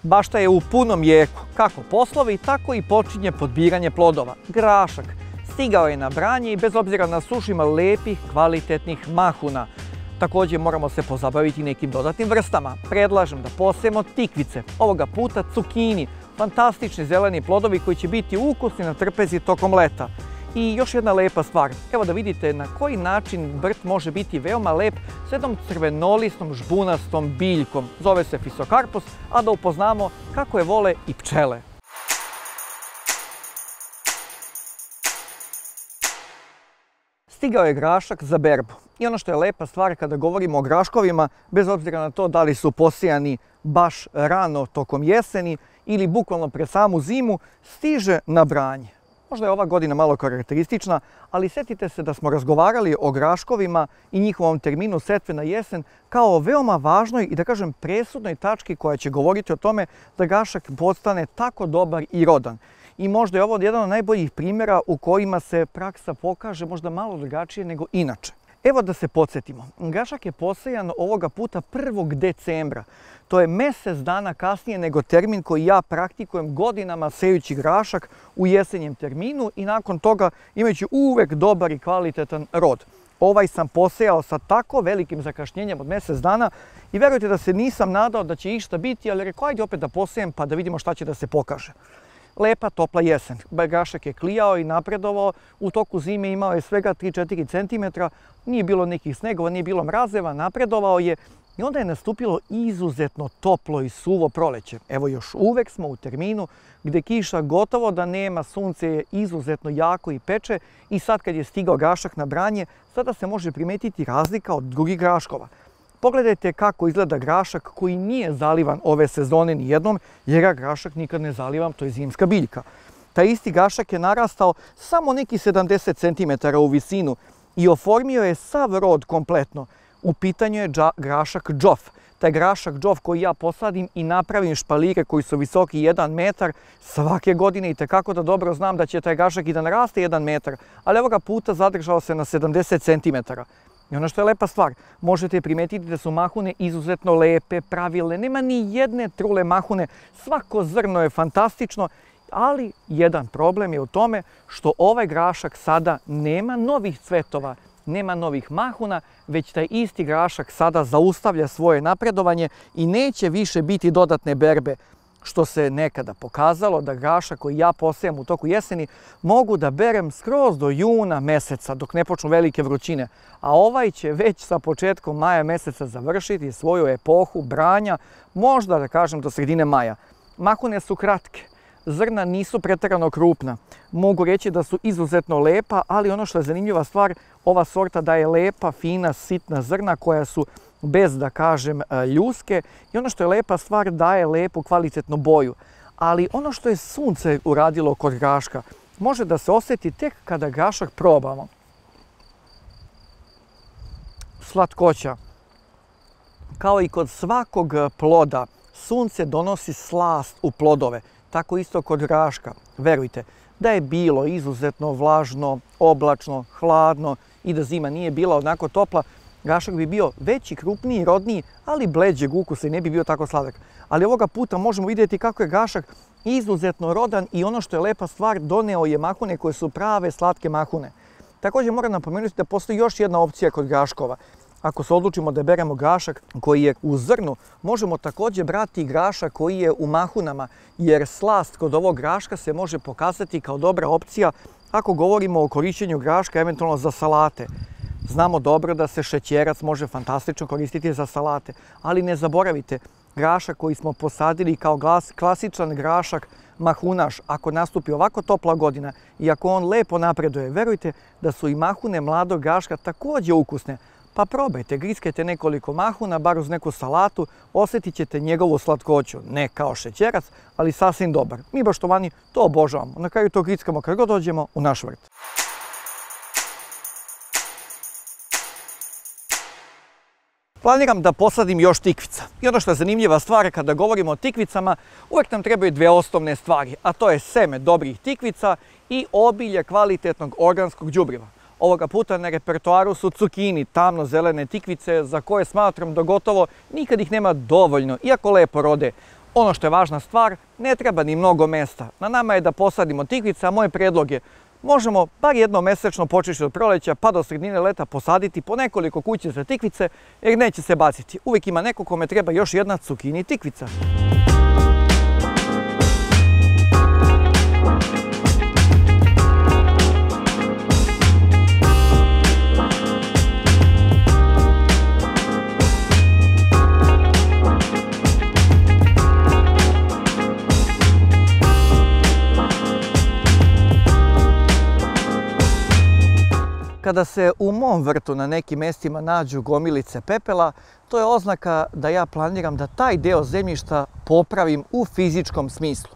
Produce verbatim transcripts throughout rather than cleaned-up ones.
Bašta je u punom jeku, kako poslovi, tako i počinje podbiranje plodova. Grašak stigao je na branje i bez obzira na sušu ima lepih, kvalitetnih mahuna. Također moramo se pozabaviti nekim dodatnim vrstama. Predlažem da posejemo tikvice, ovoga puta cukini, fantastični zeleni plodovi koji će biti ukusni na trpezi tokom leta. I još jedna lepa stvar, evo da vidite na koji način vrt može biti veoma lep s jednom crvenolistom žbunastom biljkom. Zove se Fisokarpus, a da upoznamo kako je vole i pčele. Stigao je grašak za berbu. I ono što je lepa stvar kada govorimo o graškovima, bez obzira na to da li su posijani baš rano tokom jeseni ili bukvalno pred samu zimu, stiže na branje. Možda je ova godina malo karakteristična, ali sjetite se da smo razgovarali o graškovima i njihovom terminu setve na jesen kao o veoma važnoj i da kažem presudnoj tački koja će govoriti o tome da grašak postane tako dobar i rodan. I možda je ovo jedan od najboljih primjera u kojima se praksa pokaže možda malo drugačije nego inače. Evo da se podsjetimo, grašak je posejan ovoga puta prvog decembra. To je mjesec dana kasnije nego termin koji ja praktikujem godinama sejući grašak u jesenjem terminu i nakon toga imajući uvek dobar i kvalitetan rod. Ovaj sam posejao sa tako velikim zakašnjenjem od mjesec dana i verujte da se nisam nadao da će išta biti, ali rekao ajde opet da posejem pa da vidimo šta će da se pokaže. Lepa, topla jesen. Grašak je klijao i napredovao, u toku zime imao je svega tri do četiri centimetra, nije bilo nekih snegova, nije bilo mrazeva, napredovao je i onda je nastupilo izuzetno toplo i suvo proleće. Evo još uvek smo u terminu gdje kiša gotovo da nema, sunce je izuzetno jako i peče i sad kad je stigao grašak na branje, sada se može primetiti razlika od drugih graškova. Pogledajte kako izgleda grašak koji nije zalivan ove sezone nijednom, jer ja grašak nikad ne zalivam, to je zimska biljka. Taj isti grašak je narastao samo neki sedamdeset centimetara u visinu i oformio je sav rod kompletno. U pitanju je grašak džof. Taj grašak džof koji ja posadim i napravim špalire koji su visoki jedan metar svake godine i tekako da dobro znam da će taj grašak i da naraste jedan metar, ali ovoga puta zadržao se na sedamdeset centimetara. I ono što je lepa stvar, možete primetiti da su mahune izuzetno lepe, pravilne, nema ni jedne trule mahune, svako zrno je fantastično, ali jedan problem je u tome što ovaj grašak sada nema novih cvetova, nema novih mahuna, već taj isti grašak sada zaustavlja svoje napredovanje i neće više biti dodatne berbe. Što se nekada pokazalo da grašak koji ja posejem u toku jeseni mogu da berem skroz do juna meseca dok ne počnu velike vrućine, a ovaj će već sa početkom maja meseca završiti svoju epohu branja, možda da kažem do sredine maja. Mahune su kratke, zrna nisu pretjerano krupna, mogu reći da su izuzetno lepa, ali ono što je zanimljiva stvar, ova sorta daje lepa, fina, sitna zrna koja su bez da kažem ljuske i ono što je lepa stvar daje lepu kvalitetnu boju. Ali ono što je sunce uradilo kod graška može da se osjeti tek kada grašak probamo. Slatkoća. Kao i kod svakog ploda, sunce donosi slast u plodove. Tako isto kod graška. Verujte, da je bilo izuzetno vlažno, oblačno, hladno i da zima nije bila onako topla, grašak bi bio veći, krupniji, rodniji, ali bleđeg ukusa i ne bi bio tako sladak. Ali ovoga puta možemo vidjeti kako je grašak izuzetno rodan i ono što je lepa stvar, doneo je mahune koje su prave slatke mahune. Također moram napomenuti da postoji još jedna opcija kod graškova. Ako se odlučimo da beremo grašak koji je u zrnu, možemo također brati i grašak koji je u mahunama, jer slast kod ovog graška se može pokazati kao dobra opcija ako govorimo o korišćenju graška eventualno za salate. Znamo dobro da se šećerac može fantastično koristiti za salate, ali ne zaboravite, grašak koji smo posadili kao klasičan grašak mahunaš, ako nastupi ovako topla godina i ako on lepo napreduje, verujte da su i mahune mladog graška također ukusne. Pa probajte, griskajte nekoliko mahuna, bar uz neku salatu, osjetit ćete njegovu slatkoću. Ne kao šećerac, ali sasvim dobar. Mi baštovani to obožavamo. Na kraju to griskamo kad god dođemo u naš vrt. Planiram da posadim još tikvica. I ono što je zanimljiva stvar kada govorimo o tikvicama, uvijek nam trebaju dve osnovne stvari, a to je seme dobrih tikvica i obilje kvalitetnog organskog đubriva. Ovoga puta na repertoaru su cukini, tamno-zelene tikvice za koje smatram da gotovo nikad ih nema dovoljno, iako lepo rode. Ono što je važna stvar, ne treba ni mnogo mesta. Na nama je da posadimo tikvice, a moj predlog je možemo bar jednom mesečno počeši od proleća pa do sredine leta posaditi po nekoliko kuće za tikvice jer neće se baciti. Uvijek ima neko kome treba još jedna cukini tikvica. Kada se u mom vrtu na nekim mjestima nađu gomilice pepela, to je oznaka da ja planiram da taj deo zemljišta popravim u fizičkom smislu.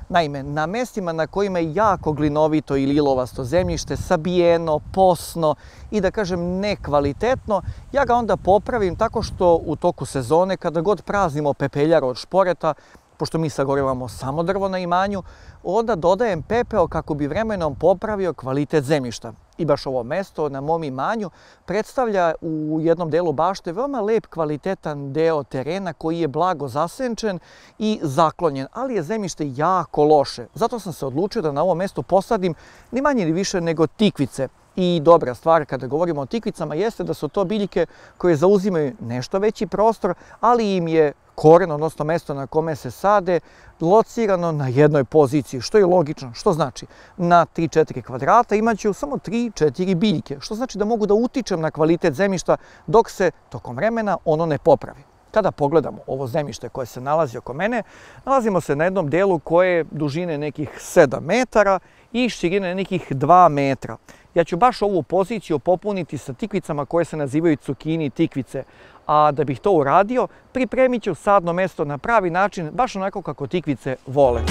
Naime, na mjestima na kojima je jako glinovito ili ilovasto zemljište, sabijeno, posno i da kažem nekvalitetno, ja ga onda popravim tako što u toku sezone, kada god praznimo pepeljar od šporeta, pošto mi sagorevamo samo drvo na imanju, onda dodajem pepeo kako bi vremenom popravio kvalitet zemljišta. I baš ovo mesto na mom imanju predstavlja u jednom delu bašte veoma lep kvalitetan deo terena koji je blago zasenčen i zaklonjen, ali je zemljište jako loše. Zato sam se odlučio da na ovom mestu posadim ni manje ni više nego tikvice. I dobra stvar kada govorimo o tikvicama jeste da su to biljke koje zauzimaju nešto veći prostor, ali im je koren, odnosno mesto na kome se sade, locirano na jednoj poziciji, što je logično. Što znači? Na tri do četiri kvadrata imaću samo tri do četiri biljke, što znači da mogu da utičem na kvalitet zemljišta dok se tokom vremena ono ne popravi. Kada pogledamo ovo zemljište koje se nalazi oko mene, nalazimo se na jednom delu koje je dužine nekih sedam metara i širine nekih dva metra. Ja ću baš ovu poziciju popuniti sa tikvicama koje se nazivaju cukini tikvice, a da bih to uradio, pripremit ću sadno mesto na pravi način, baš onako kako tikvice vole.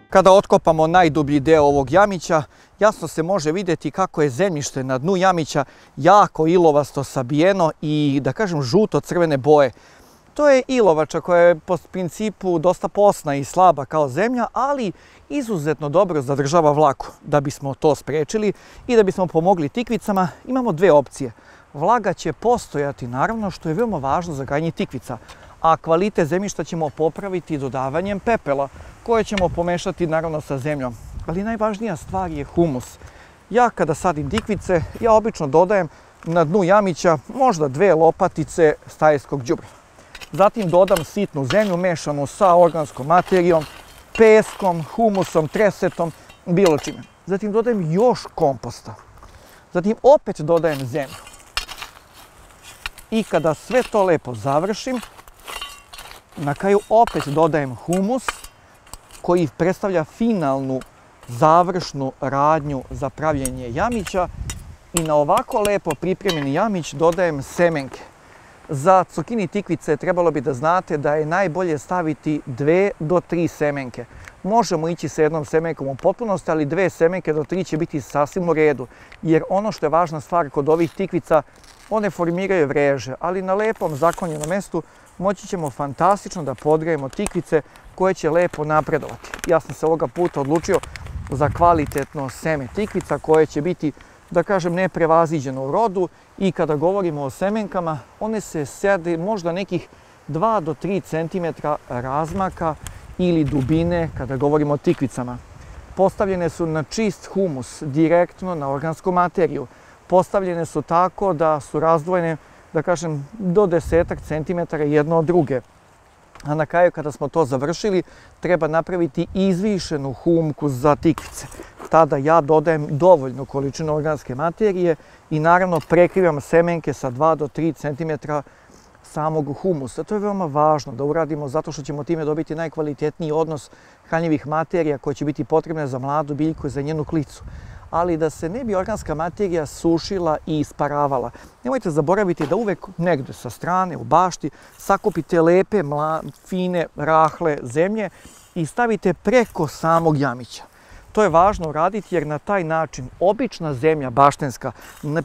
Kada otkopamo najdublji deo ovog jamića, jasno se može vidjeti kako je zemljište na dnu jamića jako ilovasto sabijeno i, da kažem, žuto-crvene boje. To je ilovača koja je po principu dosta posna i slaba kao zemlja, ali izuzetno dobro zadržava vlagu. Da bismo to sprečili i da bismo pomogli tikvicama, imamo dve opcije. Vlaga će postojati, naravno, što je veoma važno za gajanje tikvica, a kvalitet zemljišta ćemo popraviti dodavanjem pepela, koje ćemo pomešati naravno sa zemljom. Ali najvažnija stvar je humus. Ja kada sadim tikvice, ja obično dodajem na dnu jamića možda dve lopatice stajskog đubriva. Zatim dodam sitnu zemlju mešanu sa organskom materijom, peskom, humusom, tresetom, bilo čime. Zatim dodajem još komposta. Zatim opet dodajem zemlju. I kada sve to lepo završim, na kraju opet dodajem humus koji predstavlja finalnu završnu radnju za pravljenje jamića i na ovako lepo pripremljeni jamić dodajem semenke. Za cukini tikvice trebalo bi da znate da je najbolje staviti dve do tri semenke. Možemo ići sa jednom semenkom u potpunosti, ali dve semenke do tri će biti sasvim u redu. Jer ono što je važna stvar kod ovih tikvica, one formiraju vreže, ali na lepom zaklonjenom mestu moći ćemo fantastično da podgrejemo tikvice koje će lepo napredovati. Ja sam se ovoga puta odlučio za kvalitetno seme tikvica koje će biti, da kažem, neprevaziđeno u rodu i kada govorimo o semenkama, one se sede možda nekih dva do tri centimetra razmaka ili dubine kada govorimo o tikvicama. Postavljene su na čist humus, direktno na organsku materiju. Postavljene su tako da su razdvojene, da kažem, do desetak centimetara jedno od druge. A na kraju, kada smo to završili, treba napraviti izvišenu humku za tikvice. Tada ja dodajem dovoljnu količinu organske materije i naravno prekrivam semenke sa dva do tri centimetra samog humusa. To je veoma važno da uradimo zato što ćemo time dobiti najkvalitetniji odnos hranjivih materija koje će biti potrebne za mladu biljku i za njenu klicu. Ali da se ne bi organska materija sušila i isparavala. Nemojte zaboraviti da uvek negde sa strane, u bašti, sakupite lepe, fine, rahle zemlje i stavite preko samog jamića. To je važno uraditi jer na taj način obična zemlja baštenska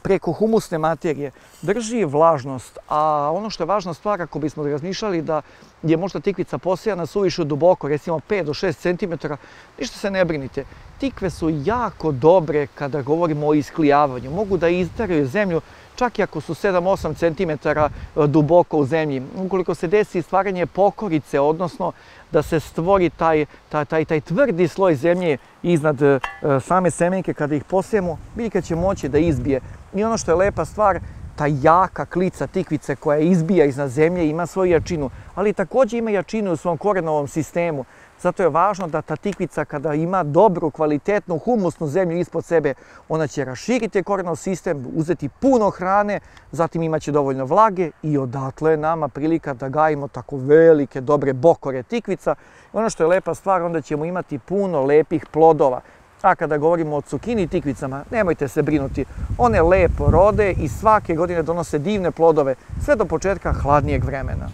preko humusne materije drži vlažnost, a ono što je važna stvar, ako bismo razmišljali da je možda tikvica posijana suviše duboko, recimo pet do šest centimetara, ništa se ne brinite. Tikve su jako dobre kada govorimo o isklijavanju. Mogu da izdaraju zemlju čak i ako su sedam do osam centimetara duboko u zemlji. Ukoliko se desi stvaranje pokorice, odnosno da se stvori taj, taj, taj, taj tvrdi sloj zemlje iznad e, same semenke, kada ih posijemo, biljka će moći da izbije. I ono što je lepa stvar, ta jaka klica tikvice koja izbija iznad zemlje ima svoju jačinu, ali također ima jačinu u svom korenovom sistemu. Zato je važno da ta tikvica kada ima dobru, kvalitetnu, humusnu zemlju ispod sebe, ona će raširiti korenov sistem, uzeti puno hrane, zatim imaće dovoljno vlage i odatle je nama prilika da gajimo tako velike, dobre bokore tikvica. Ono što je lepa stvar, onda ćemo imati puno lepih plodova. A kada govorimo o cukini tikvicama, nemojte se brinuti, one lepo rode i svake godine donose divne plodove, sve do početka hladnijeg vremena.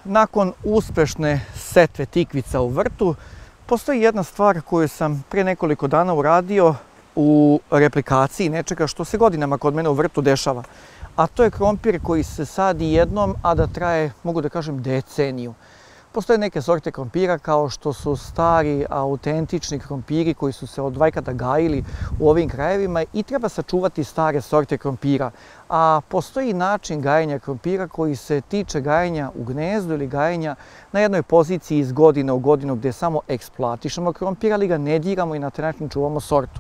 Nakon uspešne setve tikvica u vrtu, postoji jedna stvar koju sam pre nekoliko dana uradio u replikaciji nečega što se godinama kod mene u vrtu dešava. A to je krompir koji se sadi jednom, a da traje, mogu da kažem, deceniju. Postoje neke sorte krompira kao što su stari, autentični krompiri koji su se od vajkada gajili u ovim krajevima i treba sačuvati stare sorte krompira. A postoji način gajenja krompira koji se tiče gajenja u gnezdu ili gajenja na jednoj poziciji iz godine u godinu gdje samo eksploatišemo krompir, ali ga ne diramo i na taj način čuvamo sortu.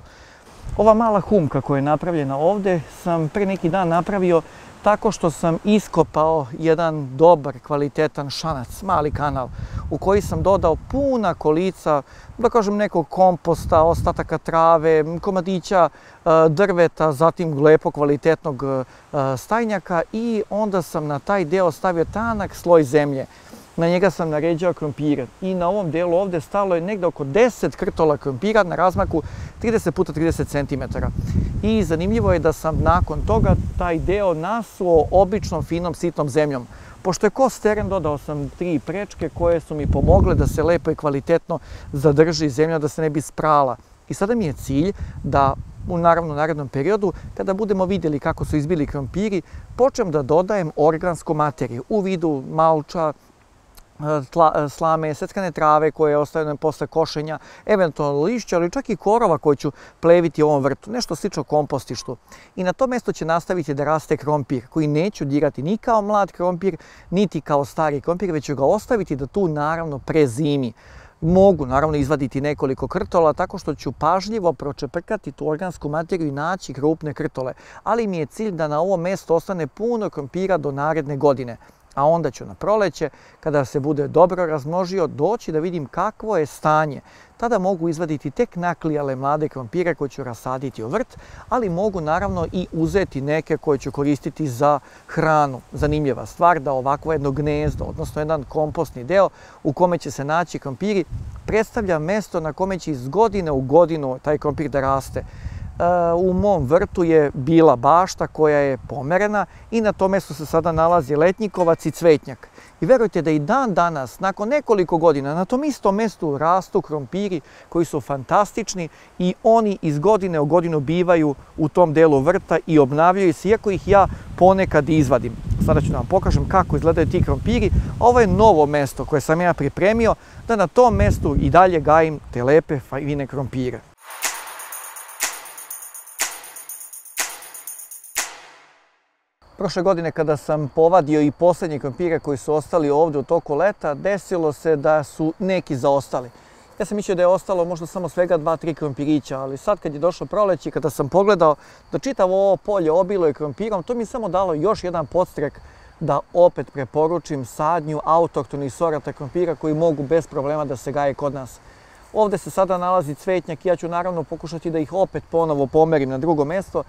Ova mala humka koja je napravljena ovdje sam pre neki dan napravio tako što sam iskopao jedan dobar, kvalitetan šanac, mali kanal, u koji sam dodao puna kolica, da kažem, nekog komposta, ostataka trave, komadića drveta, zatim lepo kvalitetnog stajnjaka i onda sam na taj deo stavio tanak sloj zemlje. Na njega sam naređao krompire i na ovom delu ovdje stalo je negdje oko deset krtola krompira na razmaku trideset puta trideset centimetara. I zanimljivo je da sam nakon toga taj deo nasuo običnom finom sitnom zemljom. Pošto je kost teren, dodao sam tri prečke koje su mi pomogle da se lepo i kvalitetno zadrži zemlja, da se ne bi sprala. I sada mi je cilj da u naravno narednom periodu, kada budemo vidjeli kako su izbili krompiri, počnem da dodajem organsku materiju u vidu malča, Tla, slame, seckane trave koje ostaju posle košenja, eventualno lišća, ali čak i korova koje ću pleviti u ovom vrtu, nešto slično kompostištu. I na to mjesto će nastaviti da raste krompir, koji neću dirati ni kao mlad krompir, niti kao stari krompir, već ću ga ostaviti da tu naravno prezimi. Mogu naravno izvaditi nekoliko krtola tako što ću pažljivo pročeprkati tu organsku materiju i naći krupne krtole, ali mi je cilj da na ovom mjestu ostane puno krompira do naredne godine. A onda ću na proleće, kada se bude dobro razmnožio, doći da vidim kakvo je stanje. Tada mogu izvaditi tek naklijale mlade krompire koje ću rasaditi u vrt, ali mogu naravno i uzeti neke koje ću koristiti za hranu. Zanimljiva stvar da ovakvo jedno gnezdo, odnosno jedan kompostni deo u kome će se naći krompiri, predstavlja mjesto na kome će iz godine u godinu taj krompir da raste. U mom vrtu je bila bašta koja je pomerena i na tom mjestu se sada nalazi letnjikovac i cvetnjak. I verujte da i dan danas, nakon nekoliko godina, na tom istom mjestu rastu krompiri koji su fantastični i oni iz godine u godinu bivaju u tom delu vrta i obnavljaju se, iako ih ja ponekad izvadim. Sada ću da vam pokažem kako izgledaju ti krompiri. Ovo je novo mjesto koje sam ja pripremio da na tom mjestu i dalje gajim te lepe fine krompire. Prošle godine kada sam povadio i posljednje krompire koji su ostali ovdje u toku leta, desilo se da su neki zaostali. Ja sam mislio da je ostalo možda samo svega dva, tri krompirića, ali sad kad je došlo proleće, kada sam pogledao da čitavo ovo polje obilo je krompirom, to mi je samo dalo još jedan podstrek da opet preporučim sadnju autohtonih sorata krompira koji mogu bez problema da se gaje kod nas. Ovdje se sada nalazi cvetnjak i ja ću naravno pokušati da ih opet ponovo pomerim na drugo mjesto,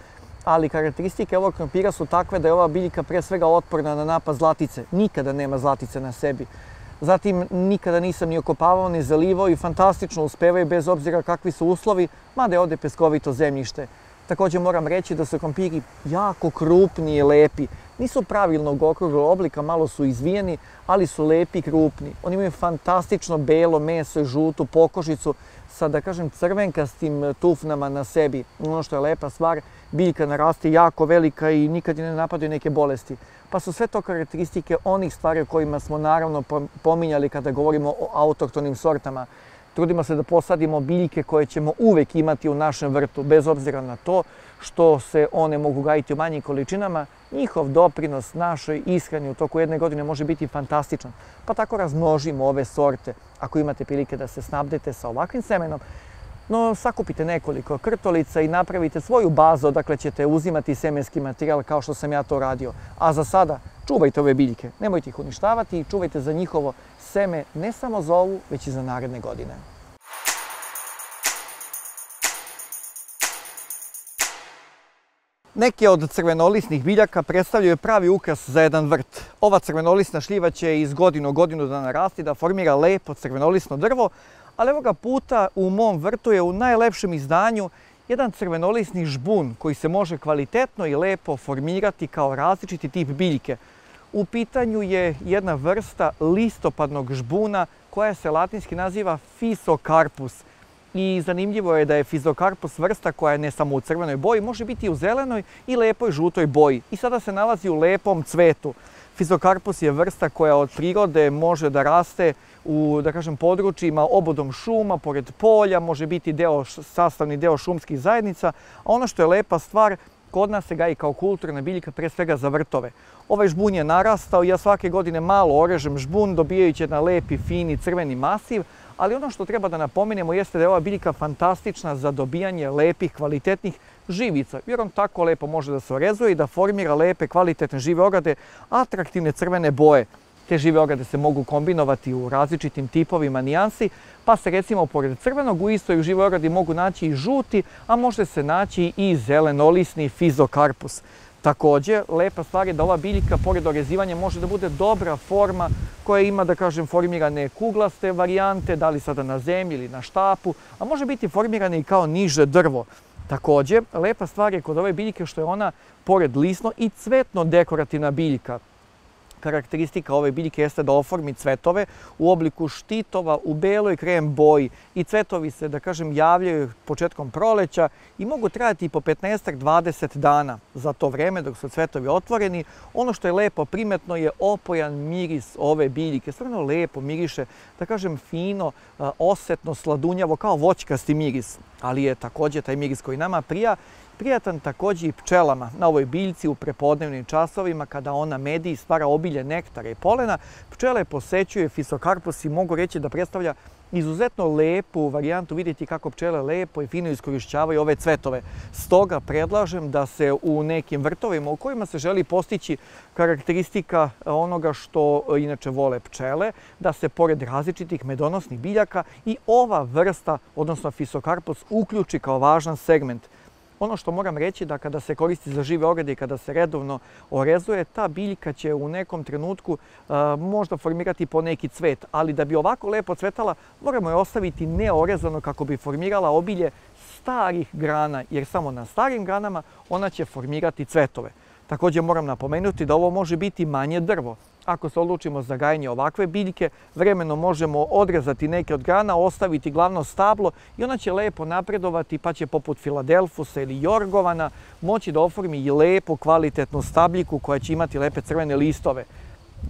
ali karakteristike ovog krompira su takve da je ova biljka pre svega otporna na napad zlatice. Nikada nema zlatice na sebi. Zatim nikada nisam ni okopavao ni zalivao i fantastično uspevaju bez obzira kakvi su uslovi, mada je ovdje peskovito zemljište. Također moram reći da su krompiri jako krupni i lepi. Nisu pravilnog okruglog oblika, malo su izvijeni, ali su lepi i krupni. Oni imaju fantastično belo meso i žutu pokožicu sa, da kažem, crvenkastim tufnama na sebi. Ono što je lepa stvar, biljka naraste jako velika i nikad ne napadaju neke bolesti. Pa su sve to karakteristike onih stvari o kojima smo naravno pominjali kada govorimo o autohtonim sortama. Trudimo se da posadimo biljke koje ćemo uvek imati u našem vrtu, bez obzira na to što se one mogu gajiti u manjim količinama. Njihov doprinos našoj ishrani u toku jedne godine može biti fantastičan. Pa tako razmnožimo ove sorte. Ako imate prilike da se snabdete sa ovakvim semenom, no sakupite nekoliko krtolica i napravite svoju bazu odakle ćete uzimati semenski materijal kao što sam ja to radio. A za sada čuvajte ove biljke, nemojte ih uništavati i čuvajte za njihovo seme ne samo za ovu, već i za naredne godine. Neke od crvenolisnih biljaka predstavljaju pravi ukras za jedan vrt. Ova crvenolisna šljiva će iz godinu u godinu da narasti, da formira lepo crvenolisno drvo, ali ovoga puta u mom vrtu je u najlepšem izdanju jedan crvenolisni žbun koji se može kvalitetno i lepo formirati kao različiti tip biljke. U pitanju je jedna vrsta listopadnog žbuna koja se latinski naziva Physocarpus. I zanimljivo je da je Physocarpus vrsta koja je ne samo u crvenoj boji, može biti i u zelenoj i lepoj žutoj boji. I sada se nalazi u lepom cvetu. Physocarpus je vrsta koja od prirode može da raste u, da kažem, područjima obodom šuma, pored polja, može biti deo, sastavni deo šumskih zajednica. A ono što je lepa stvar, kod nas se gaji kao kulturna biljka, pre svega za vrtove. Ovaj žbun je narastao i ja svake godine malo orežem žbun, dobijajući jedan lepi, fini, crveni masiv. Ali ono što treba da napomenemo jeste da je ova biljka fantastična za dobijanje lepih, kvalitetnih živica. Jer on tako lepo može da se orezuje i da formira lepe, kvalitetne žive ograde, atraktivne crvene boje. Te žive ograde se mogu kombinovati u različitim tipovima nijansi, pa se recimo pored crvenog u istoj živoj ogradi mogu naći i žuti, a može se naći i zelenolisni Physocarpus. Također, lepa stvar je da ova biljka, pored orezivanja, može da bude dobra forma koja ima, da kažem, formirane kuglaste varijante, da li sada na zemlji ili na štapu, a može biti formirane i kao niže drvo. Također, lepa stvar je kod ove biljke što je ona, pored lisno, i cvetno dekorativna biljka. Karakteristika ove biljke jeste da oformi cvetove u obliku štitova u beloj krem boji i cvetovi se, da kažem, javljaju početkom proleća i mogu trajati i po petnaest do dvadeset dana. Za to vreme dok su cvetovi otvoreni, ono što je lepo primetno je opojan miris ove biljke. Stvarno lepo miriše, da kažem, fino, osetno, sladunjavo, kao voćkasti miris. Ali je također taj miris koji nama prija, prijatan također i pčelama. Na ovoj biljci u prepodnevnim časovima kada ona medi i stvara obilje nektara i polena, pčele posećuje Physocarpus i mogu reći da predstavlja izuzetno lepu varijantu, vidjeti kako pčele lepo i fino iskorišćavaju ove cvetove. Stoga predlažem da se u nekim vrtovima u kojima se želi postići karakteristika onoga što inače vole pčele, da se pored različitih medonosnih biljaka i ova vrsta, odnosno Physocarpus, uključi kao važan segment. Ono što moram reći da kada se koristi za žive ograde i kada se redovno orezuje, ta biljka će u nekom trenutku uh, možda formirati po neki cvet, ali da bi ovako lepo cvetala moramo je ostaviti neorezano kako bi formirala obilje starih grana, jer samo na starim granama ona će formirati cvetove. Također moram napomenuti da ovo može biti manje drvo. Ako se odlučimo za gajanje ovakve biljke, vremenom možemo odrezati neke od grana, ostaviti glavno stablo i ona će lepo napredovati pa će poput Filadelfusa ili Jorgovana moći da oformi i lepu kvalitetnu stabljiku koja će imati lepe crvene listove.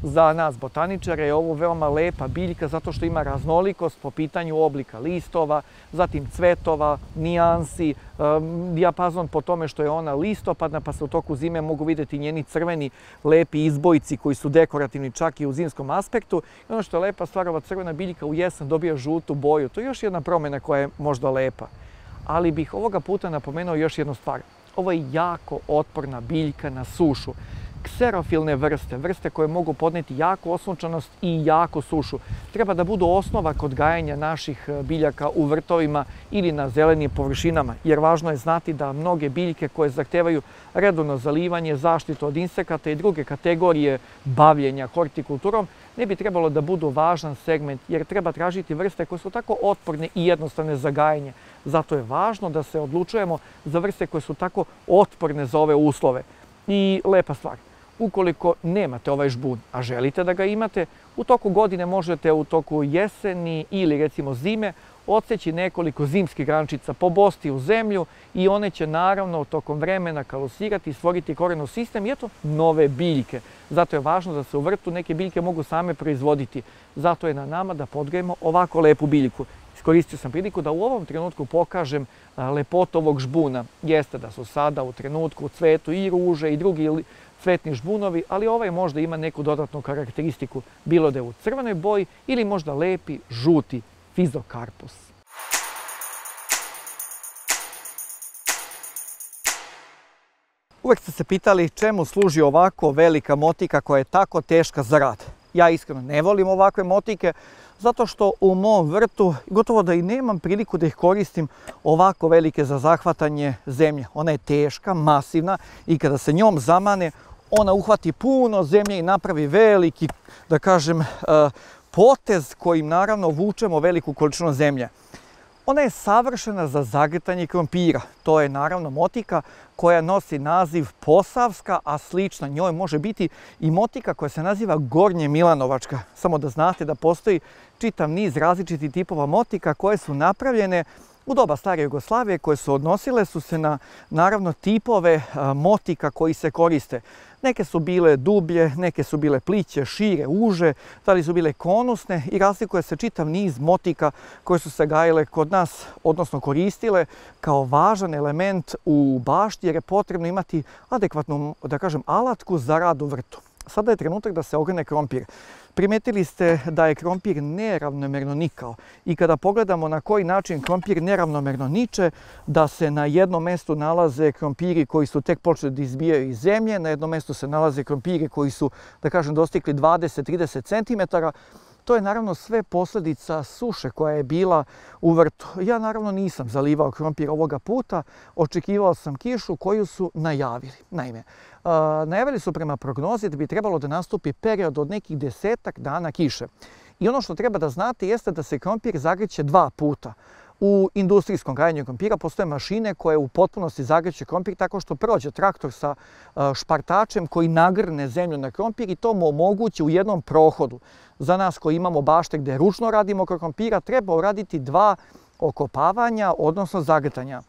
Za nas botaničare je ovo veoma lepa biljka zato što ima raznolikost po pitanju oblika listova, zatim cvetova, nijansi, dijapazon po tome što je ona listopadna pa se u toku zime mogu vidjeti njeni crveni lepi izbojci koji su dekorativni čak i u zimskom aspektu. I ono što je lepa stvar, ova crvena biljka u jesen dobija žutu boju. To je još jedna promjena koja je možda lepa. Ali bih ovoga puta napomenuo još jednu stvar. Ovo je jako otporna biljka na sušu. kserofilne vrste, vrste koje mogu podneti jaku osunčanost i jaku sušu. Treba da budu osnova kod gajenja naših biljaka u vrtovima ili na zelenim površinama, jer važno je znati da mnoge biljke koje zahtevaju redovno zalivanje, zaštitu od insekata i druge kategorije bavljenja hortikulturom ne bi trebalo da budu važan segment, jer treba tražiti vrste koje su tako otporne i jednostavne za gajenje. Zato je važno da se odlučujemo za vrste koje su tako otporne za ove uslove. I lepa stvar, ukoliko nemate ovaj žbun, a želite da ga imate, u toku godine možete u toku jeseni ili recimo zime odseći nekoliko zimskih grančica, pobosti u zemlju i one će naravno tokom vremena kalusirati i stvoriti korenov sistem i eto nove biljke. Zato je važno da se u vrtu neke biljke mogu same proizvoditi. Zato je na nama da podgajemo ovako lepu biljku. Iskoristio sam priliku da u ovom trenutku pokažem lepotu ovog žbuna. Jeste da su sada u trenutku u cvetu i ruže i drugi cvetni žbunovi, ali ovaj možda ima neku dodatnu karakteristiku, bilo da je u crvenoj boji ili možda lepi žuti fizokarpus. Uvek ste se pitali čemu služi ovako velika motika koja je tako teška za rad. Ja iskreno ne volim ovakve motike, zato što u mom vrtu gotovo da i nemam priliku da ih koristim ovako velike za zahvatanje zemlje. Ona je teška, masivna i kada se njom zamane, ona uhvati puno zemlje i napravi veliki, da kažem, potez kojim naravno vučemo veliku količinu zemlje. Ona je savršena za zagrtanje krompira. To je naravno motika koja nosi naziv posavska, a slična njoj može biti i motika koja se naziva gornje milanovačka. Samo da znate da postoji čitav niz različitih tipova motika koje su napravljene u doba stare Jugoslavije, koje su odnosile su se na naravno tipove motika koji se koriste. Neke su bile dublje, neke su bile pliće, šire, uže, da li su bile konusne i razlikuje se čitav niz motika koje su se gajile kod nas, odnosno koristile kao važan element u bašti jer je potrebno imati adekvatnu, da kažem, alatku za rad u vrtu. Sada je trenutak da se ogrne krompir. Primetili ste da je krompir neravnomerno nikao i kada pogledamo na koji način krompir neravnomerno niče, da se na jednom mjestu nalaze krompiri koji su tek počeli da izbijaju iz zemlje, na jednom mjestu se nalaze krompiri koji su, da kažem, dostigli dvadeset do trideset centimetara. To je naravno sve posljedica suše koja je bila u vrtu. Ja naravno nisam zalivao krompir ovoga puta, očekivao sam kišu koju su najavili. Naime, najavili su prema prognozi da bi trebalo da nastupi period od nekih desetak dana kiše. I ono što treba da znate jeste da se krompir zagreće dva puta. U industrijskom gajenju krompira postoje mašine koje u potpunosti zagreće krompir tako što prođe traktor sa špartačem koji nagrne zemlju na krompir i to mu omogući u jednom prohodu. Za nas koji imamo bašte gdje ručno radimo krompira treba uraditi dva okopavanja, odnosno zagrtanja.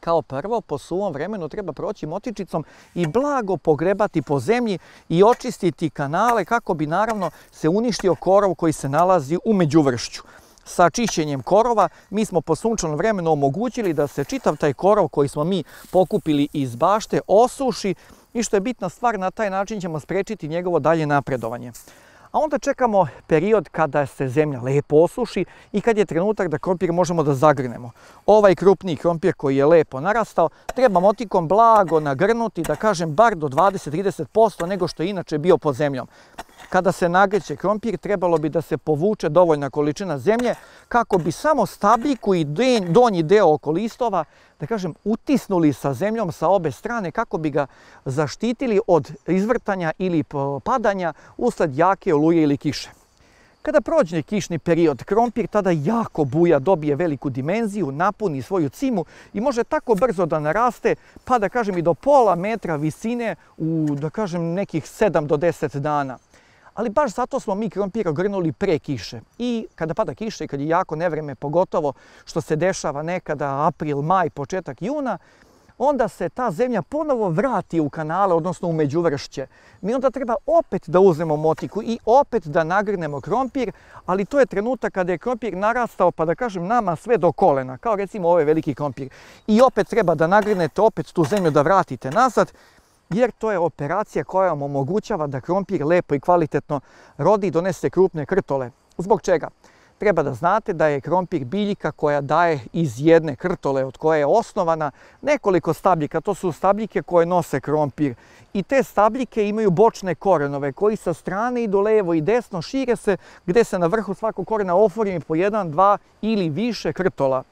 Kao prvo, po suvom vremenu treba proći motičicom i blago pogrebati po zemlji i očistiti kanale kako bi naravno se uništio korov koji se nalazi u međuvršću. Sa čišćenjem korova mi smo po sunčanom vremenu omogućili da se čitav taj korov koji smo mi pokupili iz bašte osuši i što je bitna stvar, na taj način ćemo sprečiti njegovo dalje napredovanje. A onda čekamo period kada se zemlja lepo osuši i kad je trenutak da krompir možemo da zagrnemo. Ovaj krupniji krompir koji je lepo narastao treba motikom blago nagrnuti, da kažem bar do dvadeset do trideset posto nego što je inače bio pod zemljom. Kada se nagreće krompir trebalo bi da se povuče dovoljna količina zemlje kako bi samo stabljiku i donji deo oko listova, da kažem, utisnuli sa zemljom sa obe strane kako bi ga zaštitili od izvrtanja ili padanja usled jake oluje ili kiše. Kada prođe kišni period, krompir tada jako buja, dobije veliku dimenziju, napuni svoju cimu i može tako brzo da naraste, pa da kažem i do pola metra visine u, da kažem, nekih sedam do deset dana. Ali baš zato smo mi krompir ogrnuli pre kiše. I kada pada kiša i kad je jako nevreme, pogotovo što se dešava nekada april, maj, početak juna, onda se ta zemlja ponovo vrati u kanale, odnosno u međuvršće. Mi onda treba opet da uzmemo motiku i opet da nagrnemo krompir, ali to je trenutak kada je krompir narastao, pa da kažem, nama sve do kolena, kao recimo ovaj veliki krompir. I opet treba da nagrnete, opet tu zemlju da vratite nazad, jer to je operacija koja vam omogućava da krompir lepo i kvalitetno rodi i donese krupne krtole. Zbog čega? treba da znate da je krompir biljka koja daje iz jedne krtole od koje je osnovana nekoliko stabljika. To su stabljike koje nose krompir. I te stabljike imaju bočne korenove koji sa strane idu levo i desno, šire se, gde se na vrhu svakog korena oformi po jedan, dva ili više krtola.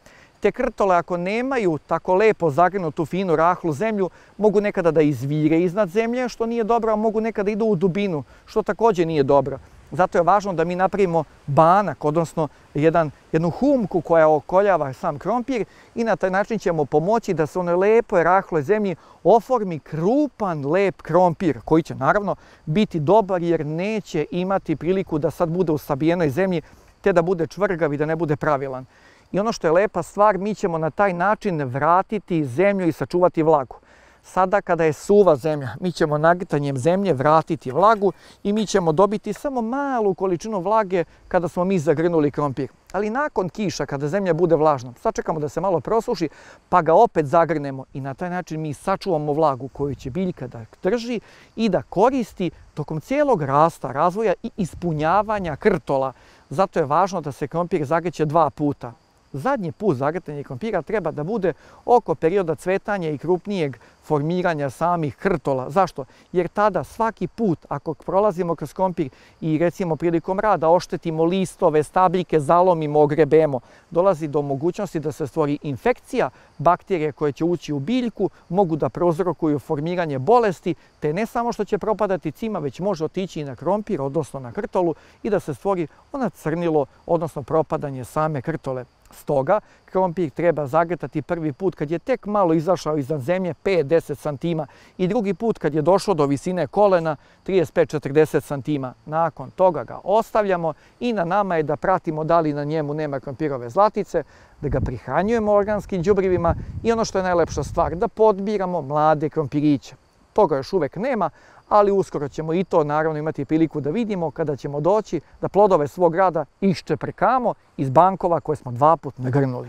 Te krtole, ako nemaju tako lepo zagrinutu finu rahlu zemlju, mogu nekada da izvire iznad zemlje, što nije dobro, a mogu nekada idu u dubinu, što također nije dobro. Zato je važno da mi napravimo banak, odnosno jedan, jednu humku koja okoljava sam krompir i na taj način ćemo pomoći da se u onoj lepoj rahloj zemlji oformi krupan, lep krompir, koji će naravno biti dobar jer neće imati priliku da sad bude u sabijenoj zemlji, te da bude čvrgav i da ne bude pravilan. I ono što je lepa stvar, mi ćemo na taj način vratiti zemlju i sačuvati vlagu. Sada kada je suva zemlja, mi ćemo nagritanjem zemlje vratiti vlagu i mi ćemo dobiti samo malu količinu vlage kada smo mi zagrnuli krompir. Ali nakon kiša, kada zemlja bude vlažna, sačekamo da se malo prosuši, pa ga opet zagrnemo i na taj način mi sačuvamo vlagu koju će biljka da drži i da koristi tokom cijelog rasta, razvoja i ispunjavanja krtola. Zato je važno da se krompir zagreće dva puta. Zadnji put zagretanje krompira treba da bude oko perioda cvetanja i krupnijeg formiranja samih krtola. Zašto? Jer tada svaki put ako prolazimo kroz krompir i recimo prilikom rada oštetimo listove, stabljike, zalomimo, ogrebemo, dolazi do mogućnosti da se stvori infekcija, bakterije koje će ući u biljku, mogu da prouzrokuju formiranje bolesti, te ne samo što će propadati cima, već može otići i na krompir, odnosno na krtolu i da se stvori ona crnilo, odnosno propadanje same krtole. Stoga, krompir treba zagretati prvi put kad je tek malo izašao iznad zemlje pet do deset santima i drugi put kad je došao do visine kolena trideset pet do četrdeset santima. Nakon toga ga ostavljamo i na nama je da pratimo da li na njemu nema krompirove zlatice, da ga prihranjujemo organskim đubrivima i ono što je najlepša stvar, da podbiramo mlade krompiriće. Toga još uvek nema, ali uskoro ćemo i to naravno imati priliku da vidimo kada ćemo doći da plodove svog rada iščeprekamo iz bankova koje smo dva put nagrnuli.